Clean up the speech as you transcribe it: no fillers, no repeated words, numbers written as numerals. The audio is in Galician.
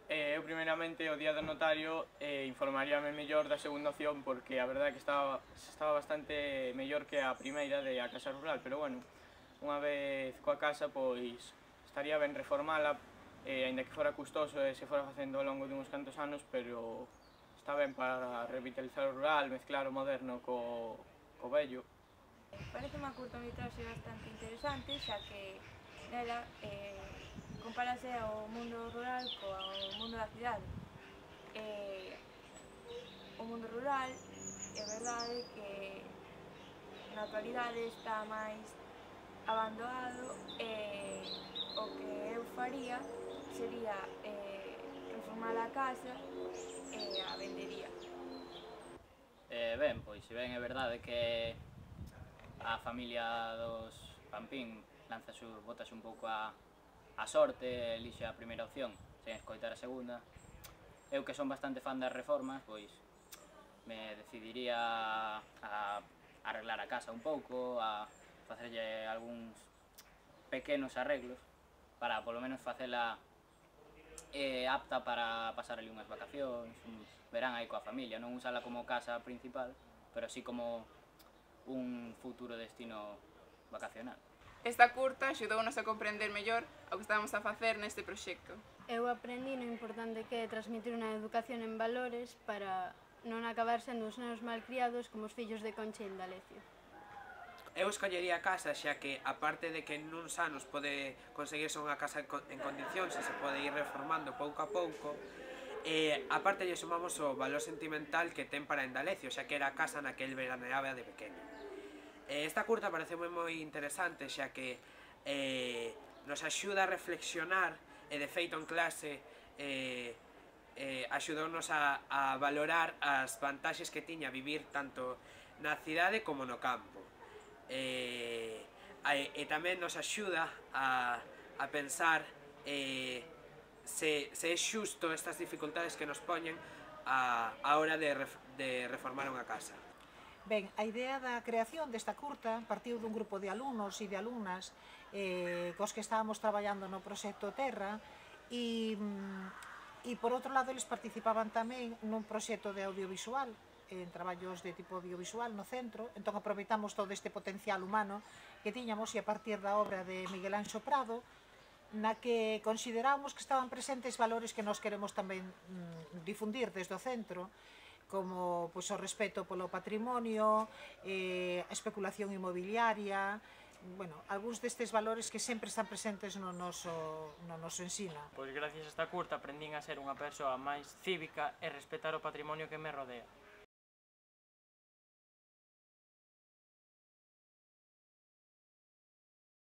Eu primeiramente o día do notario informaríame mellor da segunda opción porque a verdade é que estaba bastante mellor que a primeira de a casa rural, pero bueno, unha vez coa casa pois estaría ben reformala, aínda que fora custoso e se fora facendo ao longo de uns cantos anos, pero está ben para revitalizar o rural, mezclar o moderno co vello. Parece unha curtametraxe bastante interesante, xa que nela compárase o mundo rural co mundo da cidade. O mundo rural é verdade que na actualidade está máis abandonado e o que eu faría sería reformar a casa e a vendería. Ben, pois se ben é verdade que a familia dos Pampín botase un pouco a sorte e elixe a primeira opción sen escoitar a segunda. Eu que son bastante fan das reformas, pois me decidiría a arreglar a casa un pouco, a facerlle algúns pequenos arreglos para polo menos facela apta para pasar ali unhas vacacións, un verán aí coa familia, non usala como casa principal, pero así como un futuro destino vacacional. Esta curta axudounos a comprender mellor o que estábamos a facer neste proxecto. Eu aprendi o importante que é transmitir unha educación en valores para non acabar sendo uns nenos malcriados como os fillos de Concha e Indalecio. Eu escollería a casa xa que, aparte de que nuns anos pode conseguirse unha casa en condicións e se pode ir reformando pouco a pouco, aparte lle sumamos o valor sentimental que ten para Indalecio, xa que era a casa na que el veraneaba de pequeno. Esta curta pareceume moi interesante xa que nos axuda a reflexionar e de feito en clase axudounos a valorar as vantaxes que tiña vivir tanto na cidade como no campo. E tamén nos axuda a pensar se é xusto estas dificultades que nos poñen a hora de reformar unha casa. Ben, a idea da creación desta curta partiu dun grupo de alumnos e de alumnas cos que estábamos traballando no proxecto Terra e por outro lado eles participaban tamén nun proxecto de audiovisual, en traballos de tipo audiovisual no centro, entón aproveitamos todo este potencial humano que tiñamos e a partir da obra de Miguel Anxo Prado, na que consideramos que estaban presentes valores que nós queremos tamén difundir desde o centro, como pois, o respeto polo patrimonio, a especulación inmobiliaria, bueno, algúns destes valores que sempre están presentes no noso ensino. Pois gracias a esta curta aprendín a ser unha persoa máis cívica e respetar o patrimonio que me rodea.